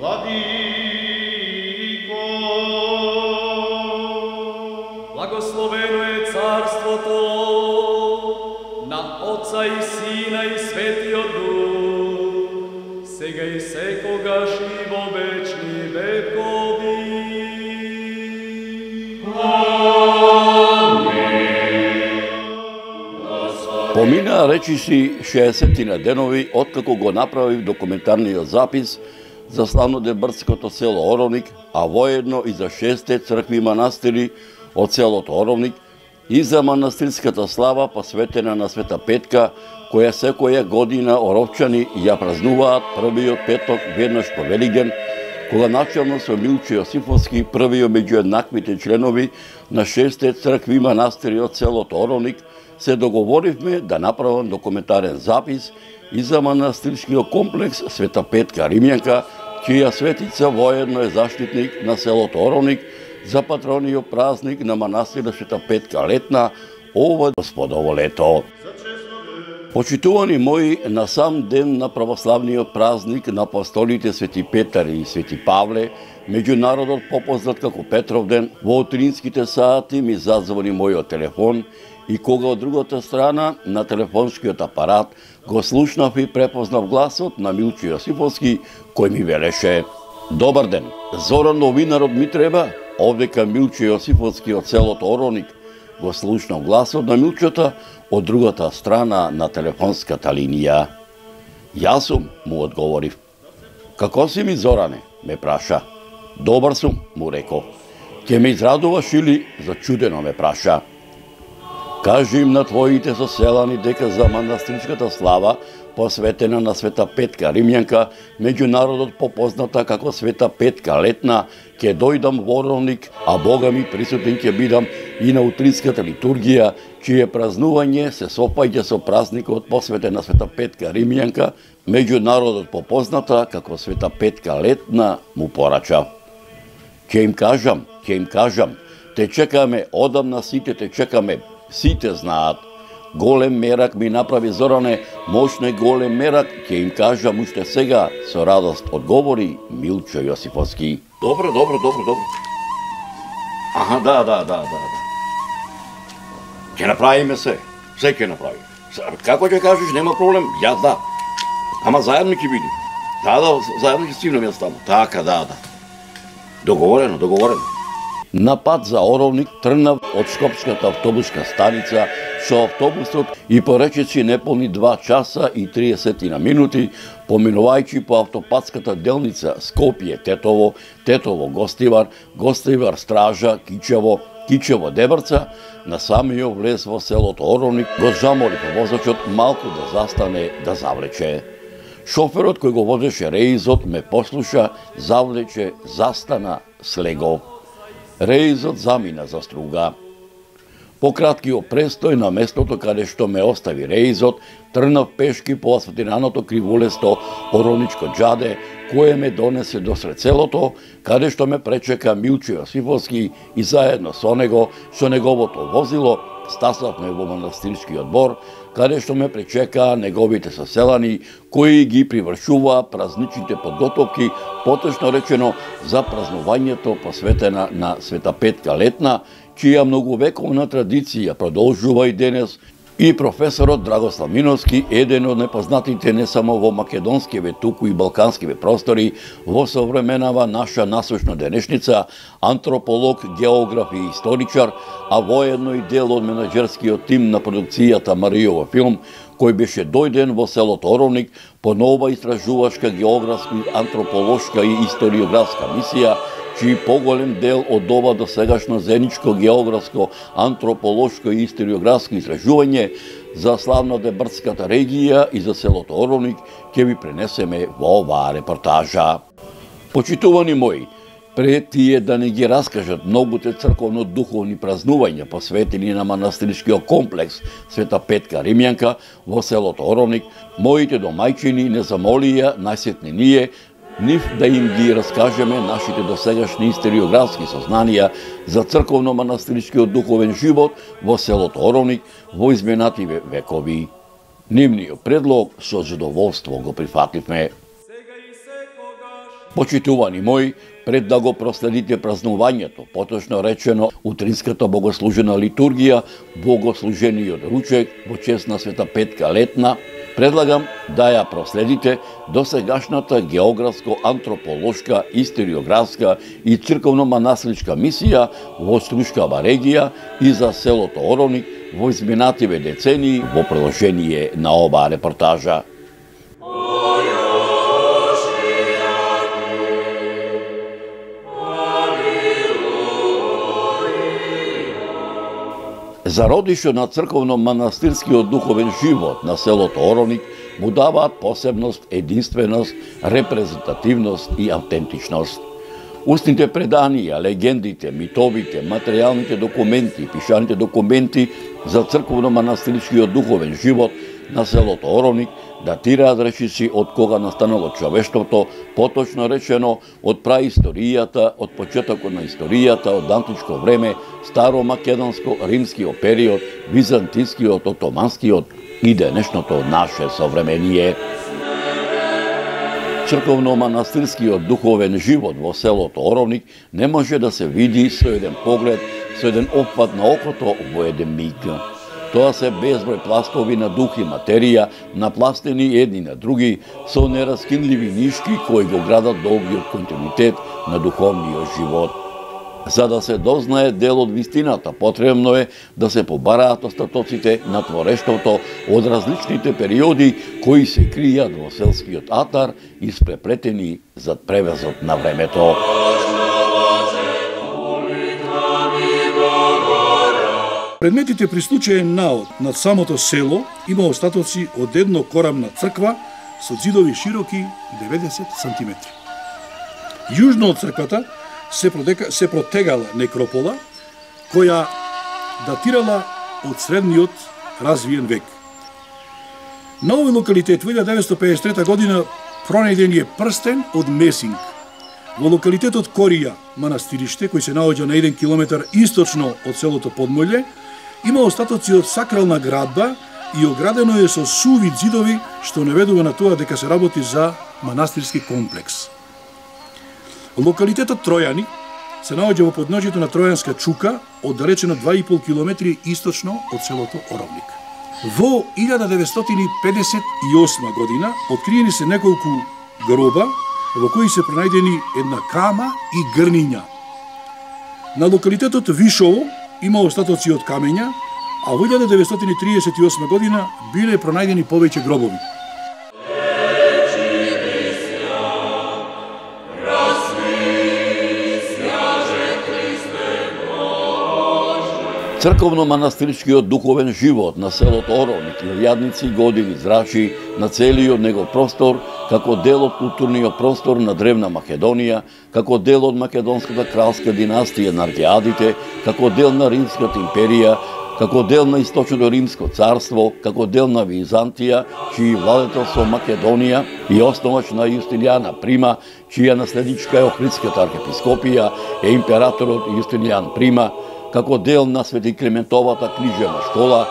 Владико, благословено е царството на Отца и Сина и Светиот Дух, сега и секогаш и во вечни векови. Поминаа речиси 60 денови откако го направив документарниот запис за славнодебрското село Оровник, а воедно и за 6 цркви и манастири од селото Оровник и за манастирската слава посветена на Света Петка, која секоја година оровчани ја празнуваат првиот петок веднаш по Велигден, кога начално со Милче Јосифовски, првиот меѓу еднаквите членови на 6 цркви и манастири од селото Оровник, се договоривме да направам документарен запис и за манастирскиот комплекс Света Петка Римјанка, чија светица воедно е заштитник на селото Оровник за патрониот празник на манастирот Света Петка Летна, ова Господово лето. Почитувани мои, на сам ден на православниот празник на апостолите Свети Петар и Свети Павле, меѓународот попознат како Петров ден, во утринските сати ми зазвони мојот телефон и кога од другата страна на телефонскиот апарат го слушнав и препознав гласот на Милче Јосифовски, кој ми велеше: "Добар ден, Зоран новинарот ми треба, овдека Милче Јосифовски од селото Оровник." Го слушнав гласот на Милчето од другата страна на телефонската линија. "Јас сум," му одговорив. "Како си ми, Зоране?" ме праша. "Добар сум," му реков. "Ке ме израдуваш или?" зачудено ме праша. "Кажи им на твоите соселани дека за манастирската слава, посветена на Света Петка Римјанка, меѓународот попозната како Света Петка Летна, ќе дојдам во Оровник, а Бога ми присутен ќе бидам и на утринската литургија, чие празнување се сопаѓа со празникот посветен на Света Петка Римјанка, меѓународот попозната како Света Петка Летна", му порача. Ќе им кажам, те чекаме, одамна сите те чекаме, сите знаат. Голем мерак ми направи, Зоране, мощне голем мерак, ќе им кажам уште сега, со радост одговори Милче Јосифовски. Добро. Аха, да. Ќе направиме се ќе направиме. Како ќе кажеш, нема проблем, јас да. Ама заедно ќе бидем. Да, заедно ќе стигнеме јас таму. Така, да. Договорено. На пат за Оровник тргнав од Шкопската автобуска станица со автобусот и поречеци неполни 2 часа и 30 минути, поминувајќи по автопатската делница Скопје-Тетово, Гостивар, Стража, Кичево, Дебрца, на самиот влез во селото Оровник, го замолив возачот малку да застане да завлече. Шоферот кој го возеше реизот ме послуша, завлече, застана, слего. Реизот замина за струга. По краткиот престој на местото каде што ме остави реизот, тргнав пешки по асфалтираното кривулесто Оровничко џаде, кое ме донесе до сред селото, каде што ме пречека Милче Јосифовски и заедно со него, со неговото возило, стасавме во манастирскиот двор, каде што ме пречекаа неговите соселани, кои ги привршуваа празничните подготовки, поточно речено за празнувањето посветена на Света Петка Летна, чија многувековна традиција продолжува и денес, и професорот Драгослав Миновски, еден од непознатите не само во македонскиве, туку и балканскиве простори, во современава наша насочна денешница, антрополог, географ и историчар, а воедно и дел од менаџерскиот тим на продукцијата Маријова филм, кој беше дојден во селото Оровник по нова истражувачка, географска, антрополошка и историографска мисија, чиј поголем дел од ова досегашно заедничко географско, антрополошко и историографско истражување за славнодебрската регија и за селото Оровник ќе ви пренесеме во оваа репортажа. Почитувани мои, пред тие да не ги раскажат многуте црковно-духовни празнувања посветени на манастирскиот комплекс Света Петка Римјанка во селото Оровник, моите домајчини не замолија најсетне ние нив да им ги раскажеме нашите досегашни историографски сознанија за црковно-манастирскиот духовен живот во селото Оровник во изминативе векови. Нивниот предлог со задоволство го прифативме. Сега и секогаш Почитувани мои, пред да го проследите празнувањето, поточно речено утринската богослужена литургија, богослужениот ручек во чест на Света Петка летна, предлагам да ја проследите досегашната географско-антрополошка, историографска и црковно-манастирска мисија во Струшкава регија и за селото Оровник во изминативе децении во продолжение на оваа репортажа. Зародишо на црковно-манастирскиот духовен живот на селото Оровник му даваат посебност, единственост, репрезентативност и автентичност. Устните преданија, легендите, митовите, материјалните документи, пишаните документи за црковно-манастирскиот духовен живот на селото Оровник датираат речиси од кога настанало човештвото, поточно речено од праисторијата, од почетокот на историјата, од античко време, старомакедонско, римскиот период, византискиот, отоманскиот и денешното наше современие. Црковно-манастирскиот духовен живот во селото Оровник не може да се види со еден поглед, со еден опфат на окото во еден миг. Тоа се безброј пластови на дух и материја, напластени едни на други, со нераскинливи нишки кои го градат долгиот континуитет на духовниот живот. За да се дознае дел од вистината, потребно е да се побараат остатоците на творештвото од различните периоди кои се кријат во селскиот атар и спреплетени зад превезот на времето. Предметите при случаен наод над самото село има остатоци од едно корамна црква со ѕидови широки 90 см. Јужно од црквата се протегала некропола, која датирала од средниот развиен век. На овој локалитет во 1953 година пронајден е прстен од месинг. Во локалитетот Корија, манастириште, кој се наоѓа на 1 километар источно од селото Подмолје, има остатоци од сакрална градба и оградено е со суви ѕидови, што наведува на тоа дека се работи за манастирски комплекс. Локалитетот Тројани се наоѓа во подножјето на Тројанска чука, оддалечено 2,5 километри источно од селото Оровник. Во 1958 година откриени се неколку гроба во кои се пронајдени една кама и грниња. На локалитетот Вишово има остатоци од камења, а во 1938 година биле пронајдени повеќе гробови. Црковно-манастирскиот духовен живот на селото Оровник илјадници години зрачи на целиот негов простор како дел од културниот простор на древна Македонија, како дел од македонската кралска династија на Аргеадите, како дел на Римската империја, како дел на Источното Римско царство, како дел на Византија, чиј владетел со Македонија и основач на Јустилијана Прима, чија наследничка е Охридската архиепископија, е императорот Јустилијан Прима, како дел на Свети Климентовата книжевна школа,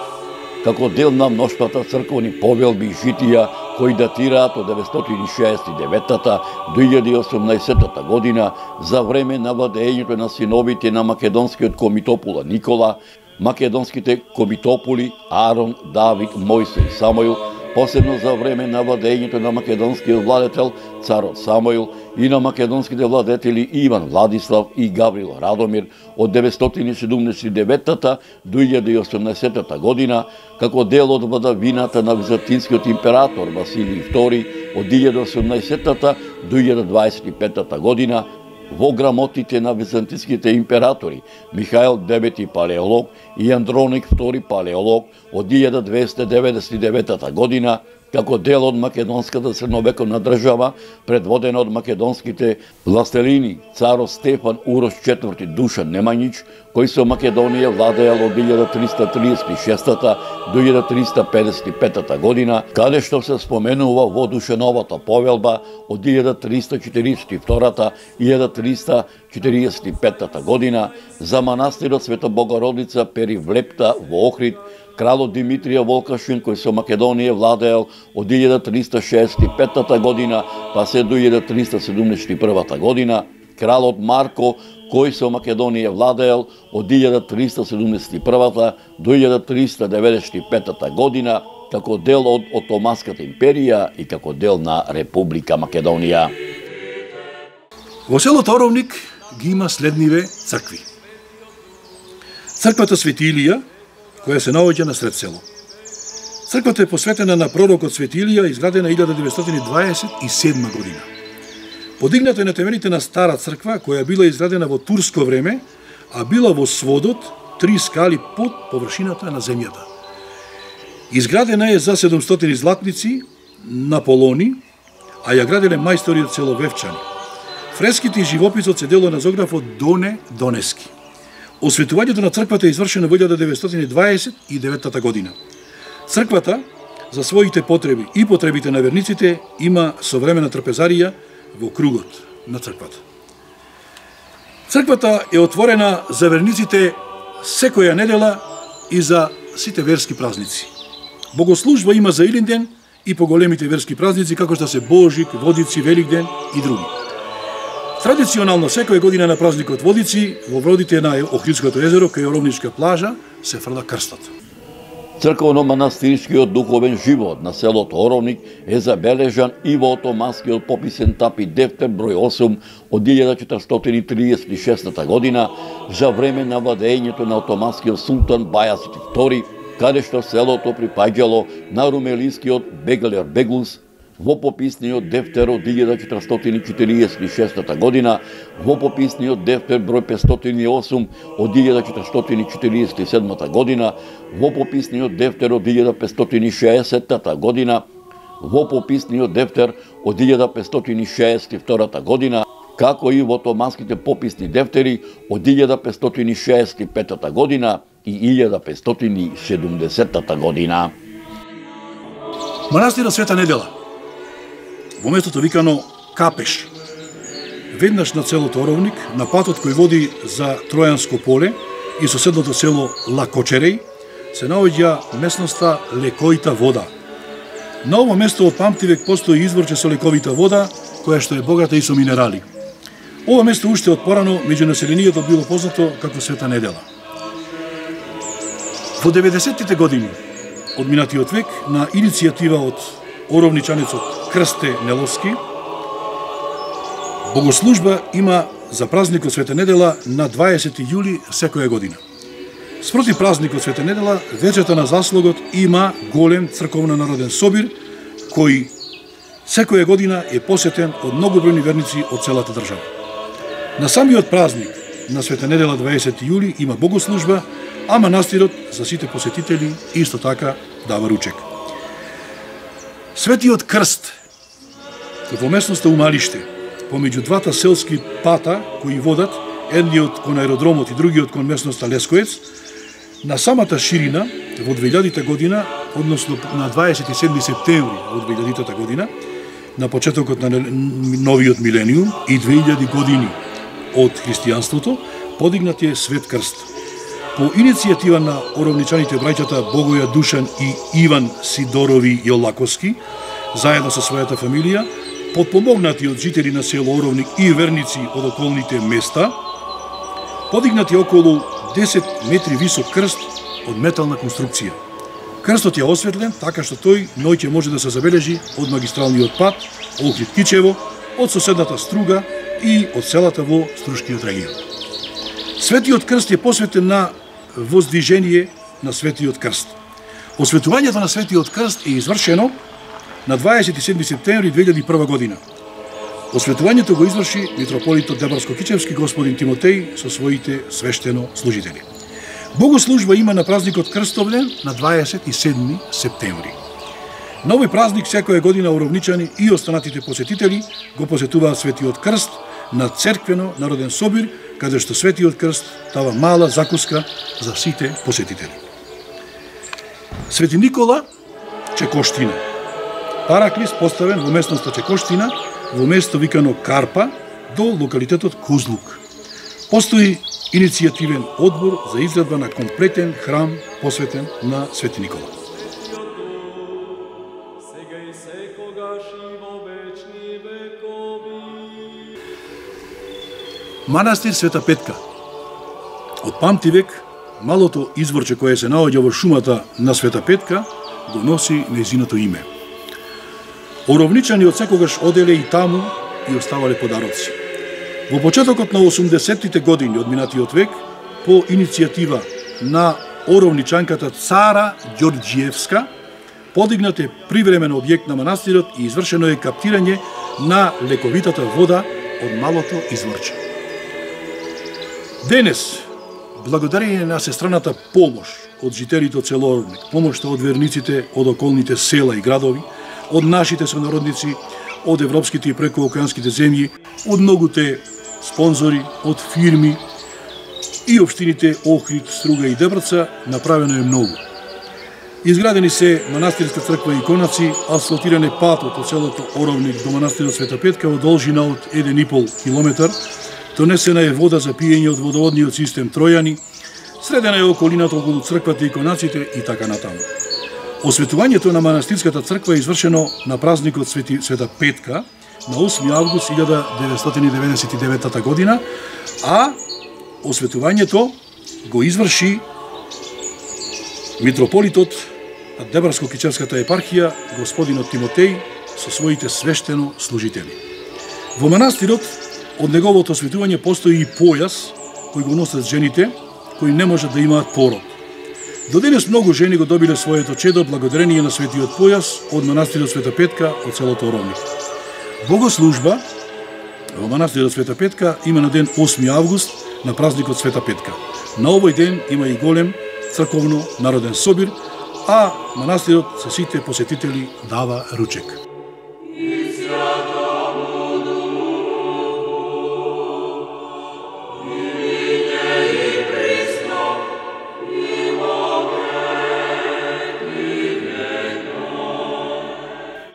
како дел на мноштвата црковни повелби и житија кои датираат од 969 до 1018 година за време на владењето на синовите на македонскиот комитопола Никола, македонските комитополи Арон, Давид, Мојсе и Самоил, посебно за време на владењето на македонскиот владетел царот Самоил и на македонските владетели Иван Владислав и Гаврил Радомир од 979 до 1018 година, како дел од владавината на византинскиот император Василий II од 1018 до 1025 година, во грамотите на византиските императори Михаил IX Палеолог и Андроник II Палеолог од 1299 година, како дел од македонската средновековна држава, предводена од македонските властелини царот Стефан Урош IV Душан Немањич, кој со Македонија владеел од 1336 до 1355 година, каде што се споменува во Душановата повелба од 1342 и 1345 година за манастирот Света Богородица Перивлепта во Охрид, кралот Димитрија Волкашин, кој со Македонија владеел од 1365 година па се до 1371 година, кралот Марко, кој со Македонија владеел од 1371 до 1395 година, како дел од Отоманската империја и како дел на Република Македонија. Во селото Оровник ги има следниве цркви. Црквата Свети Илија, која се наоѓа на сред село. Црквата е посветена на пророкот Свети Илија, изградена 1927 година. Подигната е на темените на стара црква, која била изградена во турско време, а била во сводот 3 скали под површината на земјата. Изградена е за 700 златници на полони, а ја граделе мајстори од село Вевчани. Фреските и живописот се дело на зографот Доне Донески. Осветувањето на црквата е извршено во 1929 година. Црквата, за своите потреби и потребите на верниците, има современа трпезарија во кругот на црквата. Црквата е отворена за верниците секоја недела и за сите верски празници. Богослужба има за Илинден и поголемите верски празници, како што се Божик, Водици, Великден и други. Традиционално секоја година на празникот Водици, во водите на Охридското езеро, кај Оровничка плажа, се фрла крстот. Црковно-манастирскиот духовен живот на селото Оровник е забележан и во Отоманскиот пописен тапи дефтер број 8 од 1436 година за време на владењето на Отоманскиот султан Бајазид II, каде што селото припаѓало на румелискиот Бегалер Беглус, во пописниот дефтер од 1446 година, во пописниот дефтер број 508 од 1447 година, во пописниот дефтер од 1560 година, во пописниот дефтер од 1562 година, како и во отоманските пописни дефтери од 1565 година и 1570 година. Манастирот Света Недела, во местото викано Капеш, веднаш на селото Оровник, на патот кој води за Тројанско поле и соседното село Лакочереј, се наоѓа местноста Лековита вода. На ово место од памтивек постои изворче со лековита вода, која што е богата и со минерали. Ова место уште од порано меѓу населението било познато како Света Недела. Во 90-тите години од минатиот век, на иницијатива од оровничанецот Крсте Неловски, богослужба има за празникот Света Недела на 20 јули секоја година. Спроти празникот Света Недела, вечерта на заслогот има голем црковно-народен собир, кој секоја година е посетен од многобројни верници од целата држава. На самиот празник на Света Недела 20 јули има богослужба, а манастирот за сите посетители исто така дава ручек. Светиот крст во местноста Умалиште, помеѓу двата селски пата кои водат, едниот кон аеродромот и другиот кон местноста Лескоец, на самата ширина во 2000 година, односно на 27 септември во 2000 година, на почетокот на новиот милениум и 2000 години од христијанството, подигнат е Свет крст. По иницијатива на оровничаните браќата Богоја Душан и Иван Сидорови Јолаковски, заедно со својата фамилија, подпомогнати од жители на село Оровник и верници од околните места, подигнати околу 10 метри висок крст од метална конструкција. Крстот е осветлен така што тој ноќе може да се забележи од магистралниот пат Охрид-Кичево, од соседната Струга и од селата во Струшкиот регион. Светиот крст е посветен на воздвижение на Светиот крст. Осветувањето на Светиот крст е извршено на 27 септември 2001 година. Осветувањето го изврши митрополитот Дебарско-Кичевски господин Тимотеј со своите свештено служители. Богослужба има на празникот Крстовден на 27 септември. На овој празник секоја година оровничани и останатите посетители го посетуваат Светиот крст на црквено народен собир, каде што Светиот крст дава мала закуска за сите посетители. Свети Никола Чекоштина. Параклис поставен во местноста Чекоштина, во место викано Карпа, до локалитетот Кузлук. Постои иницијативен одбор за изградба на комплетен храм посветен на Свети Никола. Манастир Света Петка. Од памтивек, малото изворче кое се наоѓа во шумата на Света Петка го носи нејзиното име. Оровничани од секогаш оделе и таму и оставале подароци. Во почетокот на 80-тите години од минатиот век, по иницијатива на оровничанката Цара Ѓорѓиевска, подигнат е привремен објект на манастирот и извршено е каптирање на лековитата вода од малото изворче. Денес, благодарение на сестраната помош од жителите од село Оровник, помошта од верниците од околните села и градови, од нашите сонародници, од европските и прекоокеанските земји, од многуте спонзори, од фирми и општините Охрид, Струга и Дебраца, направено е многу. Изградени се манастирска црква и иконаци, асфалтиран е патот од селото Оровник до манастирот Света Петка во должина од 1,5 километар, донесена е вода за пиење од водоводниот систем Тројани, средена е околината околу црквата и иконаците и така натаму. Осветувањето на манастирската црква е извршено на празникот Света Петка на 8 август 1999 година, а осветувањето го изврши митрополитот на Дебарско-Кичевската епархија, господинот Тимотеј, со своите свештено служители. Во манастирот од неговото осветување постои и појас кој го носат жените, кои не можат да имаат пород. До денес многу жени го добиле своето чедо благодарение на светиот појас од манастирот Света Петка од селото Оровник. Богослужба во манастирот Света Петка има на ден 8 август на празникот Света Петка. На овој ден има и голем црковно народен собир, а манастирот со сите посетители дава ручек.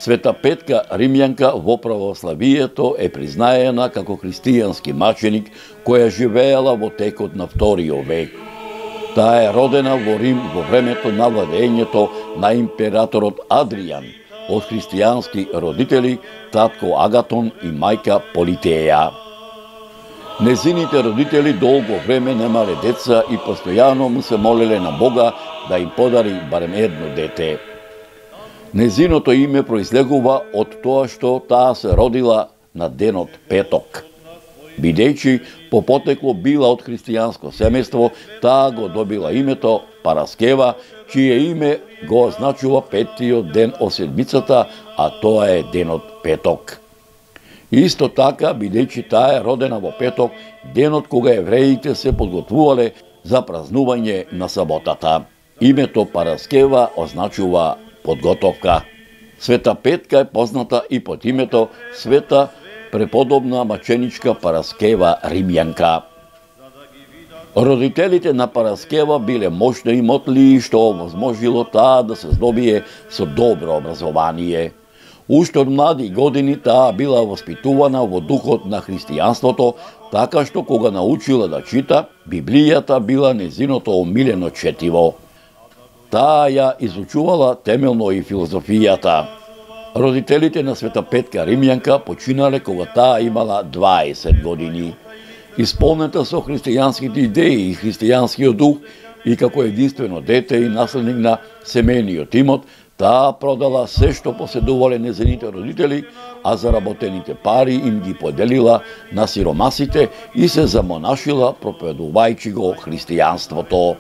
Света Петка Римјанка во православието е признаена како христијански маченик која живеела во текот на вториот век. Таа е родена во Рим во времето на владењето на императорот Адријан од христијански родители, татко Агатон и мајка Политеја. Незините родители долго време немале деца и постојано му се молеле на Бога да им подари барем едно дете. Незиното име произлегува од тоа што таа се родила на денот Петок. Бидејќи по потекло била од христијанско семејство, таа го добила името Параскева, чие име го означува петтиот ден од седмицата, а тоа е денот Петок. Исто така, бидејќи таа е родена во Петок, денот кога евреите се подготвувале за празнување на саботата. Името Параскева означува подготовка. Света Петка е позната и под името Света преподобна маченичка Параскева Римјанка. Родителите на Параскева биле мощни и мотли, што овозможило таа да се здобие со добро образование. Уште од млади години таа била воспитувана во духот на христијанството, така што кога научила да чита, Библијата била незиното омилено четиво. Таа ја изучувала темелно и филозофијата. Родителите на Света Петка Римјанка починале кога таа имала 20 години. Исполнета со христијанските идеи и христијанскиот дух и како единствено дете и наследник на семејниот имот, таа продала се што поседувале незините родители, а заработените пари им ги поделила на сиромасите и се замонашила проповедувајќи го христијанството.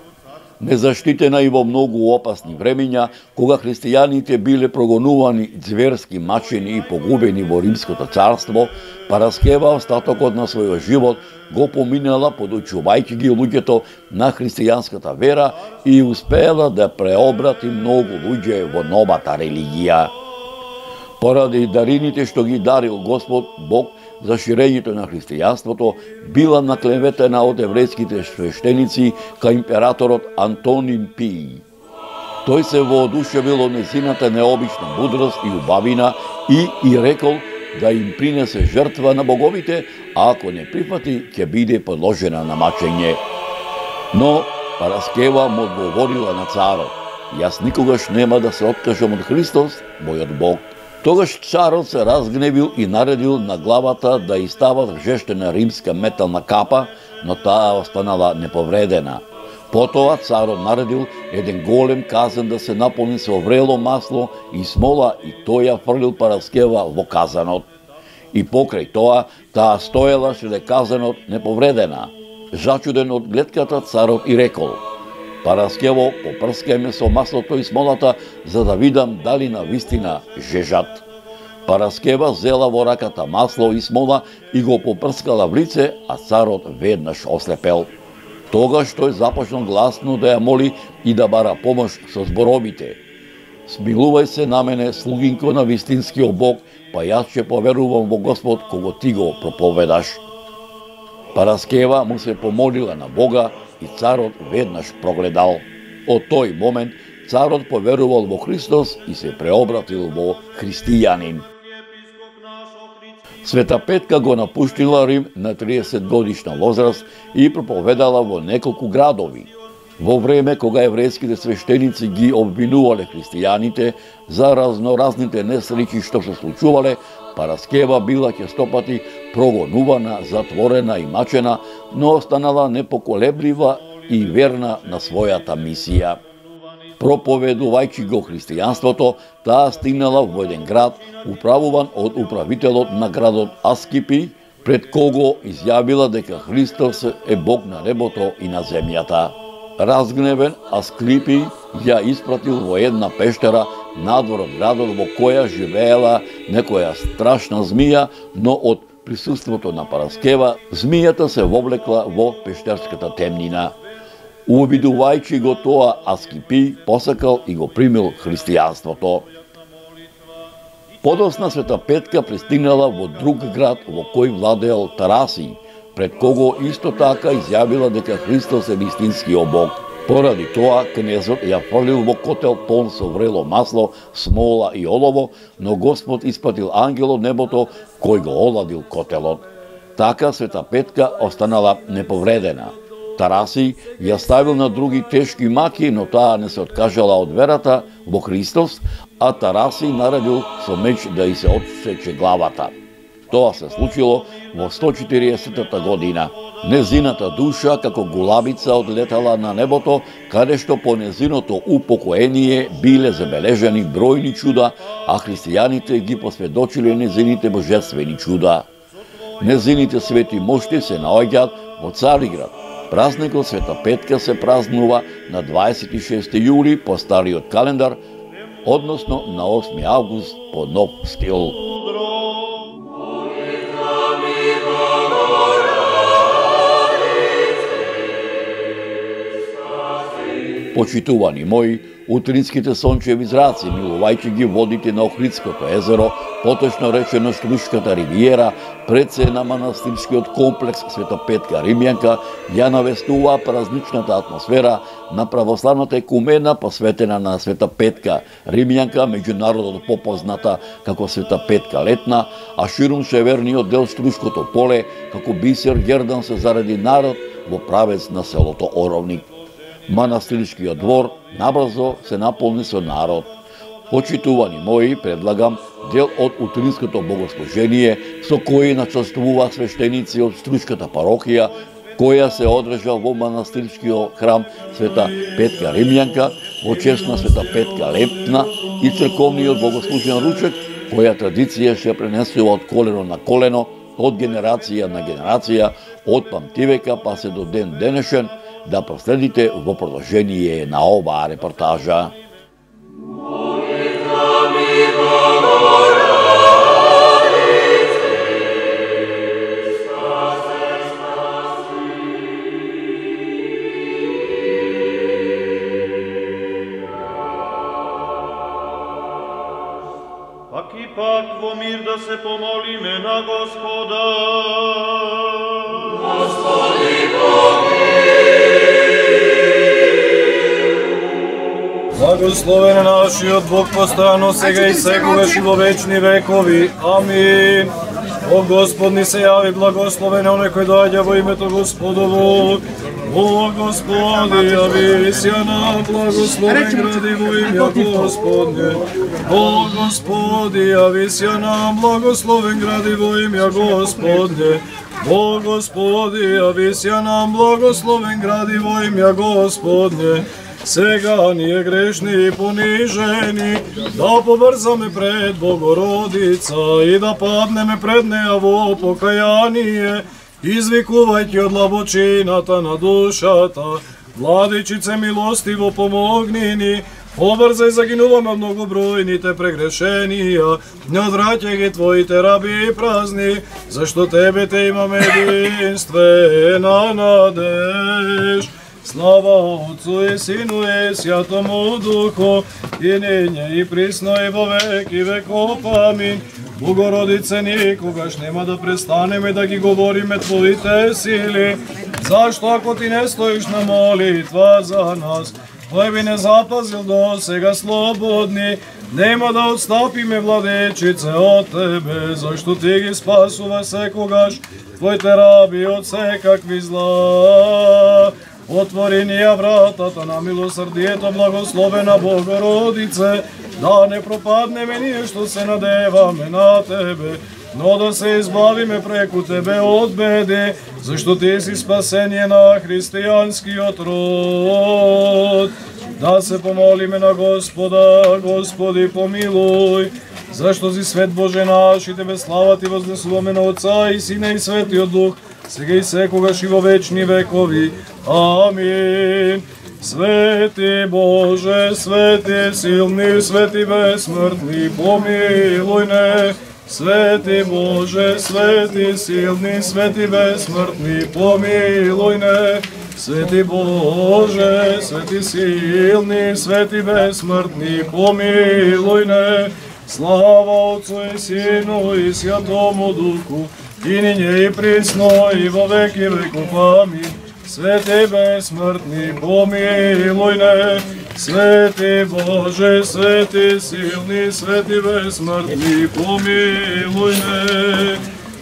Незаштитена и во многу опасни времења, кога христијаните биле прогонувани, зверски мачени и погубени во Римското царство, Параскева остатокот на својот живот го поминала подучувајќи ги луѓето на христијанската вера и успеела да преобрати многу луѓе во новата религија. Поради дарините што ги дарил Господ Бог за ширењето на христијанството, била наклеветена од еврејските свештеници кај императорот Антонин Пиј. Тој се воодушевил од незината необична мудрост и убавина и рекол да им принесе жртва на боговите, а ако не прифати, ќе биде подложена на мачење. Но Параскева му одговорила на царот: јас никогаш нема да се откажам од Христос, мојот Бог. Тогаш царот се разгневил и наредил на главата да истават жештена римска метална капа, но таа останала неповредена. Потоа царот наредил еден голем казан да се наполни со врело масло и смола и тој ја фрлил Параскева во казанот. И покрај тоа, таа стоела шле казанот неповредена. Зачуден од гледката, царот и рекол: Параскево, попрскај ме со маслото и смолата, за да видам дали на вистина жежат. Параскева зела во раката масло и смола и го попрскала в лице, а царот веднаш ослепел. Тогаш тој започнал гласно да ја моли и да бара помош со зборовите: Смилувај се на мене, слугинко на вистинскиот Бог, па јас ќе поверувам во Господ кого ти го проповедаш. Параскева му се помолила на Бога и царот веднаш прогледал. Од тој момент царот поверувал во Христос и се преобратил во христијанин. Света Петка го напуштила Рим на 30 годишна возраст и проповедала во неколку градови. Во време кога еврејските свештеници ги обвинувале христијаните за разноразните несреќи што се случувале, Параскева била честопати прогонувана, затворена и мачена, но останала непоколеблива и верна на својата мисија. Проповедувајќи го христијанството, таа стигнала во еден град, управуван од управителот на градот Аскипи, пред кого изјавила дека Христос е Бог на небото и на земјата. Разгневен, Асклипи ја испратил во една пештера надвор од градот, во која живеела некоја страшна змија, но од присуството на Параскева, змијата се вовлекла во пештерската темнина. Увидувајќи го тоа, Аскипи посакал и го примил христијанството. Подосна Света Петка пристигнала во друг град во кој владеел Тараси, пред кого исто така изјавила дека Христос е вистинскиот Бог. Поради тоа, кнезот ја фрлил во котел полн со врело масло, смола и олово, но Господ испратил ангел од небото кој го оладил котелот. Така Света Петка останала неповредена. Тараси ја ставил на други тешки маки, но таа не се откажала од верата во Христос, а Тараси наредил со меч да и се отсече главата. Тоа се случило во 140-та година. Незината душа како гулабица одлетала на небото, каде што по незиното упокоение биле забележани бројни чуда, а христијаните ги посведочиле незините божествени чуда. Незините свети мошти се наоѓаат во Цариград. Празникот Света Петка се празнува на 26 јули по стариот календар, односно на 8 август по нов стил. Почитувани мои, утринските сончеви зраци, милувајќи ги водите на Охридското езеро, поточно речено Струшката ривиера, пред се на манастирскиот комплекс Света Петка Римјанка, ја навестува празничната атмосфера на православната екумена посветена на Света Петка Римјанка, меѓународно попозната како Света Петка Летна, а ширум северниот дел Струшкото поле, како бисер гердан се заради народ во правец на селото Оровник. Манастирскиот двор набрзо се наполни со народ. Почитувани мои, предлагам дел од утринското богослужение со кој начествува свештеници од Струшката парохија, која се одржа во манастирскиот храм Света Петка Римјанка во чест на Света Петка Летна и црковниот богослужен ручек, која традиција се пренесува од колено на колено, од генерација на генерација, од памтивека па се до ден денешен, да проследите во продолжение на оваа репортажа. Пак и пак во мир да се помолиме на Господа. Господи, помилуј. Благословен е нашиот Бог постојано сега и секогаш и во вечни векови. Амин. О Господ ни се јави, благословен е оној кој доаѓа во името Господово. О Господи, јави се нам, благословен гради во име Господне. О Господи, јави се нам, благословен гради во име Господне. О Господи, јави се нам, благословен гради во име Господне. Сега ние грешни и понижени, да побрзаме пред Богородица и да паднеме пред неја во покаяние, извикувајќи од длабочината на душата. Владичице милостиво помогни ни, побрзај загинуваме од многобројните прегрешенија, не одвраќај ги Твоите раби и празни, зашто Тебе те имаме единствена надеж. Слава Отцу и Сину и Святому Духу, и ниње и присно и во веки веков. Амин. Богородице, никогаш нема да престанеме да ги говориме Твоите сили, зашто ако Ти не стоиш на молитва за нас, Тој би не запазил до сега слободни, нема да отстапиме, Владичице, од Тебе, зашто Ти ги спасува секогаш Твоите раби од секакви зла. Отвори ни ја вратата на милосрдието, благословена Богородице, да не пропаднеме ние што се надеваме на Тебе, но да се избавиме преку Тебе од беди, зашто Ти си спасение на христијанскиот род. Да се помолиме на Господа, Господи помилуј, зашто си свет Боже наш и Тебе слава Ти вознесуваме на Отца и Сина и Светиот Дух, сега и секогаш и во вечни векови. Амин. Свети Боже, свети силни, свети безсмртни, помилуј не. Свети Боже, свети силни, свети безсмртни, помилуј не. Свети Боже, свети силни, свети безсмртни, помилуј не. Слава Отцу и Сину и Святому Духу, и ниње и присно и во веки веков. Амин. Свети безсмртни, помилуј не. Свети Боже, свети силни, свети безсмртни, помилуј не.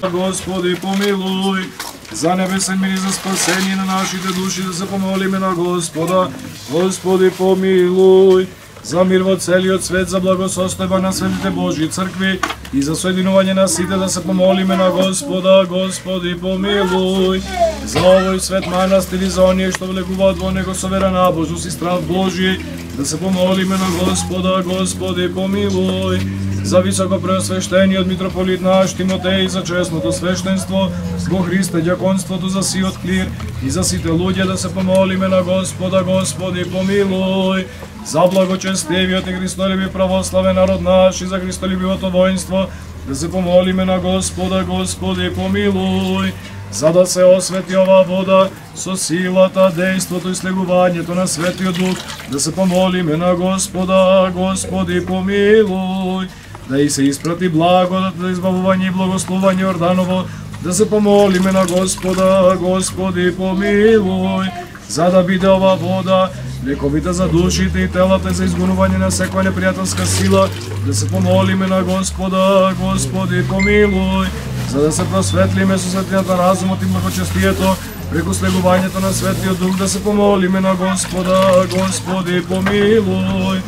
Господи помилуј. За небесен мир и за спасение на нашите души да се помолиме на Господа. Господи помилуј. За мир во целиот свет, за благосостојба на светите Божји цркви и за соединување на сите да се помолиме на Господа. Господи помилуј. За овој свет манастир и за оние што влегуваат во него со вера, набожност и страв Божји да се помолиме на Господа. Господи помилуј. За високо преосвештениот митрополит наш Тимотеј, за честното свештенство во Христе, ѓаконството за сиот клир и за сите луѓе да се помолиме на Господа. Господи помилуј. За благочестивиот и христолюби православен народ наш и за христолюбивото воинство да се помолиме на Господа. Господи помилуј. За да се освети ова вода со силата, дејството и слегувањето на Светиот Дух, да се помолиме на Господа. Господи помилуј. Да и се испрати благодат за избавување и благословување Орданово, да се помолиме на Господа. Господи помилуј. За да биде ова вода лековита за душите и телата за изгонување на секоја непријателска сила, да се помолиме на Господа. Господи помилуј. За да се просветлиме со светлината разумот и благочестието преку слегувањето на Светиот Дух, да се помолиме на Господа. Господи помилуј.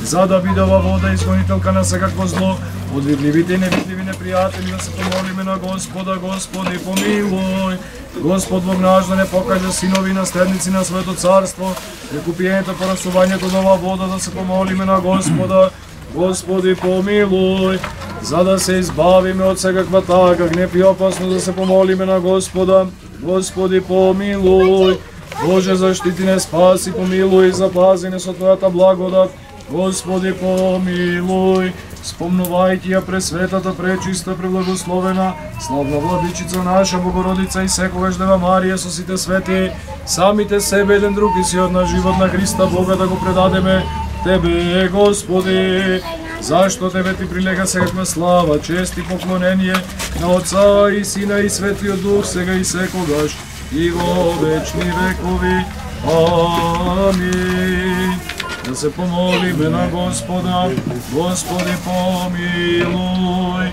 За да биде ова вода изгонителка на секакво зло, од видливите и невидливи непријатели, да се помолиме на Господа. Господи помилуј. Господ Бог наш да не покаже синови и наследници на Свето Царство, преку пиењето порасувањето на ова вода, да се помолиме на Господа. Господи помилуј. За да се избавиме од секаква тага, гнев и опасно, да се помолиме на Господа. Господи помилуј. Боже заштити не, спаси, помилуј и запази не со Твојата благодат. Господи помилуј. Спомнувајќи ја пресветата, пречиста, преблагословена, славна Владичица наша Богородица и секогаш Дева Марија со сите свети, самите себе еден друг и сиот на живот на Христа Бога да го предадеме Тебе, Господи. Зашто Тебе Ти прилега секаква слава, чест и поклонение на Отца и Сина и Светиот Дух, сега и секогаш и во вечни векови. Амин. да се помолиме на Господа. Господи, помилуј.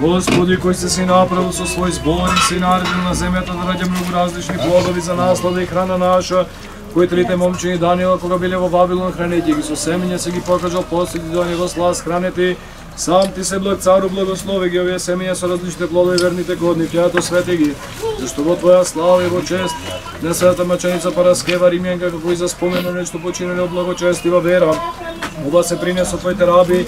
Господи, кој си направил со свој збор и си наредил на земјата да раѓа многу различни плодови за наслада и храна наша, кои трите момчиња Даниела, кога биле во Вавилон, хранејќи ги со семења, се ги покажал посети до него слас хранети. Сам ти се благ цару, благослови ги овие семења со различните плодови верните годни, тјато свети ги, зашто во твоја слава и во чест на светата маченица Параскева Римјанка, како и за спомено нешто починали од благочестива вера. Ова се принесо твоите раби,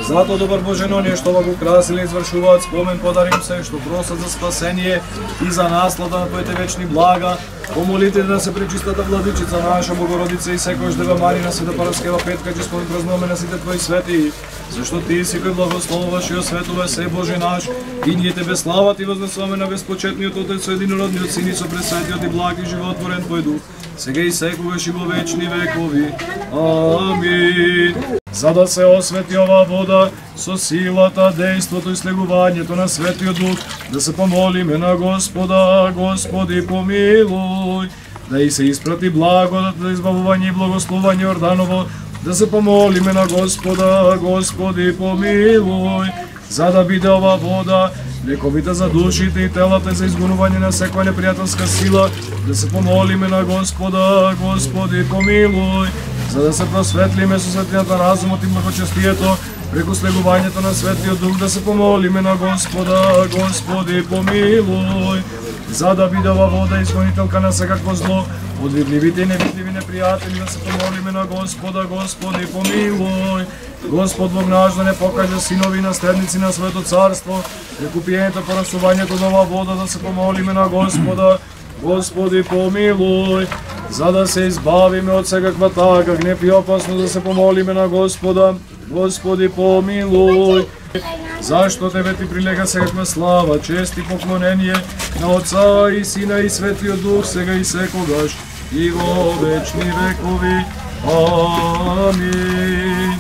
затоа добар Боже, но нешто ова го красили и извршуваат спомен, подарим се, што просат за спасение и за наслада на твоите вечни блага. Помолите да се пречистата владичица наша Богородица и секојаш Дева Марина, Света Параскева Петка, че спомен празнуваме на сите твои свети, зашто ти си кој благословуваш и осветува се Боже наш, и ние тебе слава ти вознесуваме на безпочетниот Отец со единородниот Син и со пресветиот и благ и животворен твој дух, сега и секогаш и во вечни векови. Амин. За да се освети ова вода со силата, дејството и слегувањето на Светиот Дух, да се помолиме на Господа. Господи, помилуј. Да и се испрати благодат за избавување и благословување Орданово, да се помолиме на Господа. Господи, помилуј. За да биде ова вода лековита за душите и телата за изгонување на секоја непријателска сила, да се помолиме на Господа. Господи, помилуј. За да се просветлиме со светлината разумот и благочестието, преку слегувањето на Светиот Дух, да се помолиме на Господа. Господи, помилуј. За да биде ова вода изгонителка на секакво зло, од видливите и невидливи непријатели, да се помолиме на Господа. Господи, помилуј. Господ Бог наш да не покаже синови и наследници на Своето царство, преку пиењето, порасувањето на ова вода, да се помолиме на Господа. Господи, помилуј. За да се избавиме од секаква тага, гнев и опасно, да се помолиме на Господа. Господи, помилуј. Зашто тебе ти прилега секаква слава, чест и поклонение на Отца и Сина и Светиот Дух, сега и секогаш и во вечни векови. Амин.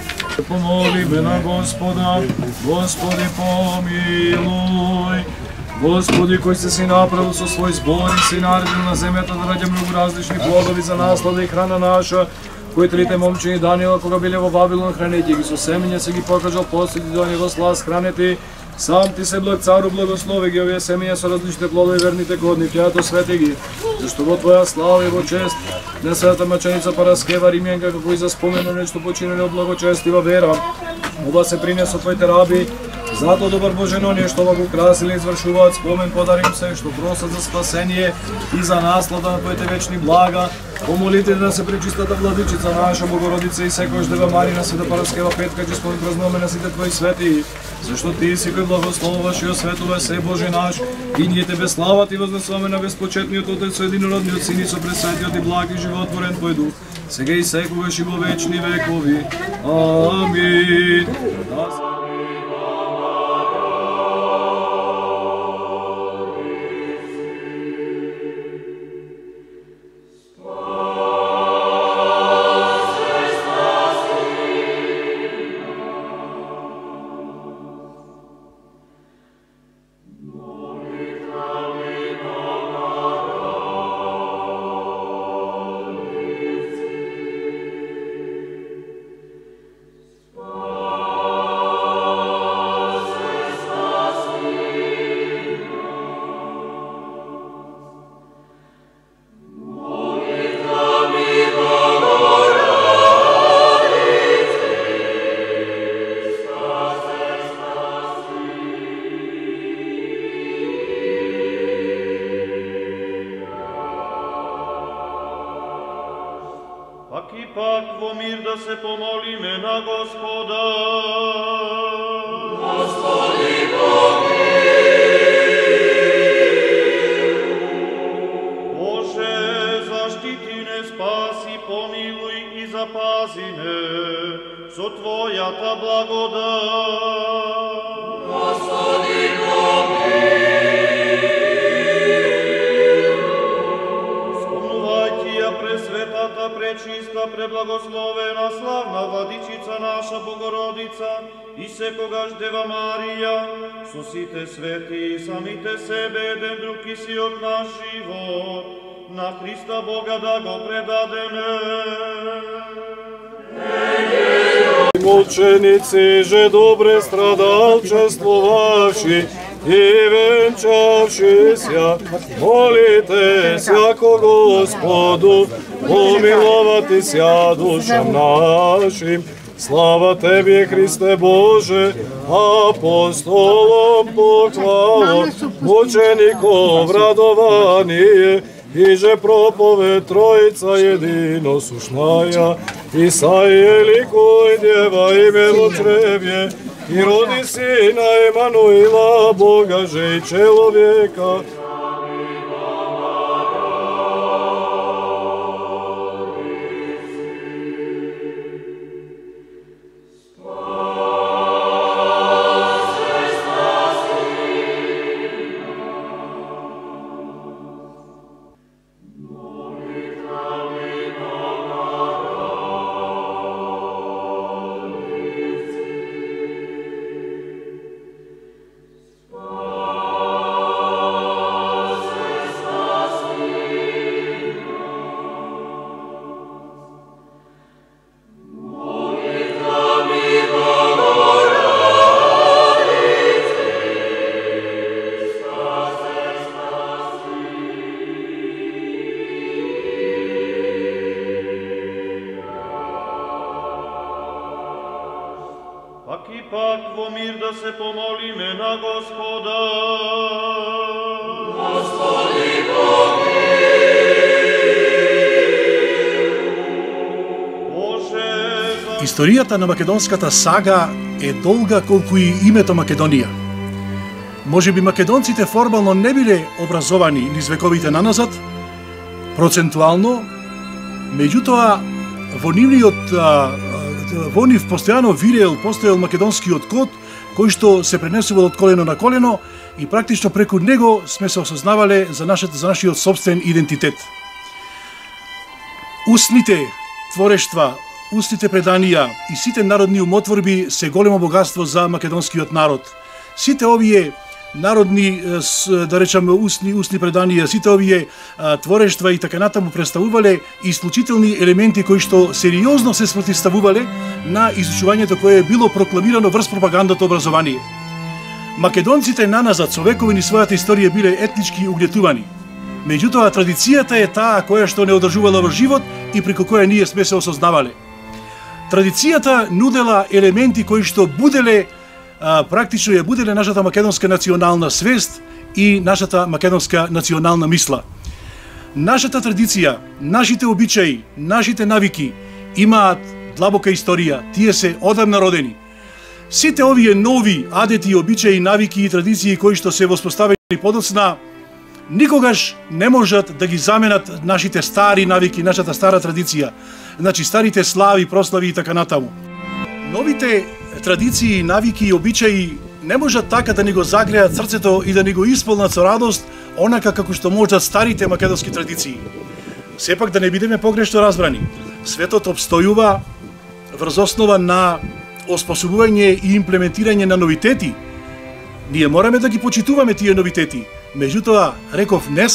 Помолиме на Господа. Господи, помилуј. Господи, кој си направил со свој збор и си наредил на земјата да раѓа многу различни плодови за наслада и храна наша, кои трите момчиња Даниела, кога биле во Вавилон, хранејќи ги со семења, се ги покажал посети до него слас хранети. Сам ти се благ цару, благослови ги овие семења со различните плодови верните годни, тјато свети ги, зашто во твоја слава и во чест на светата маченица Параскева Римјанка, како и за спомено нешто починали од благочестива вера. Ова се принесо твоите раби, затоа добар Боже, но нешто ова го красили и извршуваат спомен, подарим се, што просат за спасение и за наслада на твоите вечни блага. Помолите да се пречистата владичица наша Богородица и секојаш Дева Марина, Света Параскева Петка, че спомен празнуваме на сите твои свети, зашто ти си кој благословуваш и осветува се Боже наш, и ние тебе слава ти вознесуваме на безпочетниот Отец со единородниот Син и со пресветиот и благ и животворен твој дух, сега и секогаш и во вечни векови. Амин. Пак во мир да се помолиме на Господа. Господи, помилуј. Боже, заштити не, спаси, помилуј и запази не со Твојата благодат. Господи, помилуј. Пресветата, пречиста, преблагословена, славна владичица наша Богородица и секогаш Дева Марија, со сите свети и самите себе еден друг и си од наш живот, на Христа Бога да го предадеме. мученици же добре страдалчествувавши и венчавши ся, молите сяко Господу, помиловати ся душам нашим. Слава Тебе, Христе Боже, апостолом похвало, мучеников радование, и же проповед Троица единосушная, и саеликуй Дева имело чреве, и роди Сина Емануила, Бога же и человека. Пак во мир да се помолиме на Господа. Господи, Боже, Историјата на македонската сага е долга колку и името Македонија. Може би македонците формално не биле образовани низ вековите наназад, процентуално, меѓутоа во нив постојано постоел македонскиот код, кој што се пренесувал од колено на колено и практично преку него сме се осознавале за нашиот собствен идентитет. Устните творештва, устните преданија и сите народни умотворби се големо богатство за македонскиот народ. Сите овие народни, да речеме, устни преданија, сите овие творештва и така натаму представувале исклучителни елементи кои што сериозно се спротивставувале на изучувањето кое е било прокламирано врз пропагандата образование. Македонците наназад со векови низ својата историја биле етнички угнетувани. Меѓутоа традицијата е таа која што не одржувала во живот и преку која ние сме се осознавале. Традицијата нудела елементи кои што буделе практично ја буделе нашата македонска национална свест и нашата македонска национална мисла. Нашата традиција, нашите обичаи, нашите навики имаат длабока историја, тие се одамна родени. Сите овие нови адети, обичаи, навики и традиции кои што се воспоставени подоцна, никогаш не можат да ги заменат нашите стари навики, нашата стара традиција, значи старите слави, прослави и така натаму. Новите традиции, навики и обичаи не можат така да ни го загреат срцето и да ни го исполнат со радост, онака како што можат старите македонски традиции. Сепак да не бидеме погрешно разбрани, светот обстојува врз основа на оспособување и имплементирање на новитети. Ние мораме да ги почитуваме тие новитети. Меѓутоа, реков, не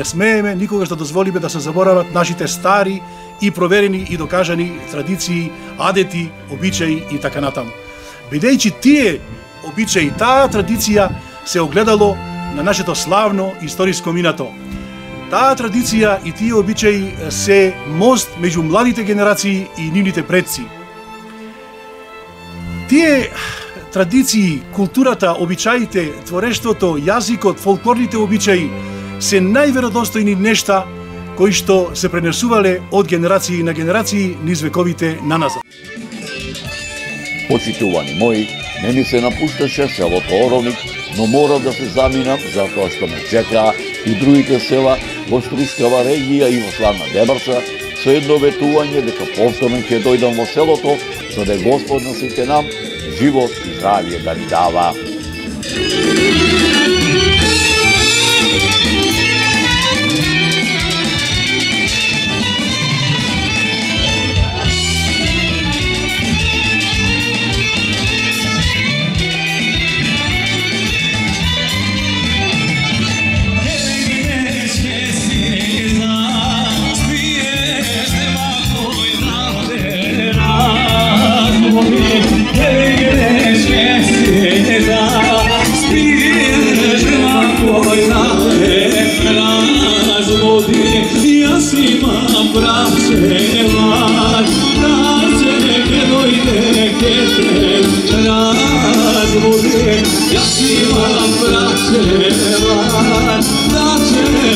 смееме никогаш да дозволиме да се заборават нашите стари и проверени и докажани традиции, адети, обичаи и така натаму. Бидејќи тие обичаи, таа традиција се огледало на нашето славно историско минато. Таа традиција и тие обичаи се мост меѓу младите генерации и нивните предци. Тие традиции, културата, обичаите, творештвото, јазикот, фолклорните обичаи се најверодостојни нешта кои што се пренесувале од генерации на генерации низ вековите наназад. Почитувани мои, не ми се напушташе селото Оровник, но морав да се заминам затоа што ме чекаа и другите села во Струскава регија и во славна Дебарца, со едно ветување дека повторно ќе дојдам во селото, за да Господ на сите нам живот и здравје да ни дава. Oh, da će